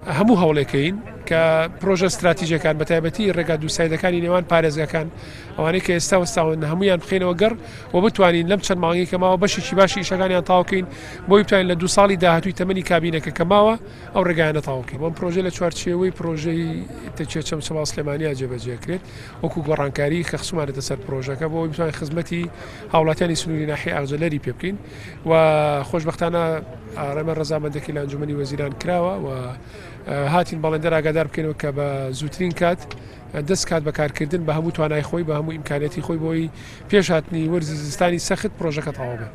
هەموو هەوڵێکەین کە پرۆژە ستراتیژەکان بە تایبەتی ڕێگا دووسایدەکانی نێوان پارێزگاکان ئەوانەی کە ئێستا وەستاون هەمویان بخینەوە گەڕ و بتوانین لەم چەند مانگی کە ماوە بەشێکی باشی ئیشەکانیان تاوکەین بۆی بتوانین لە دو ساڵی داهاتووی تەمەنی کابینەکە کە ماوە ئەو ڕێگایانە تاوکەین. بەم پرۆژە لە چوارچێوەی پرۆژەی تەکیە چەمچەماڵ سلێمانیا جێبەجێکرێت وەکو گۆڕانکاری کە خستومانەتە سەر پرۆژەکە بۆ ئەوەی بتوانین خزمەتی هاوڵاتیانی سنووری ناحیەی ئاغجەلەری پێ بکەین و خۆشبەختانە ئارەمە ڕەزامەندەکەی لە ئەنجومەنی وەزیران کراوە و هاتین بەڵێندەر ئاگادار بکەینەوە کە بە زووترین کات دەست کات بە کارکردن بە هەموو توانای خۆی بە هەموو ئیمکانیەتی خۆی بۆی پێش هاتنی وەرزی زستانی سەخت پرۆژەکە تەواو بێت.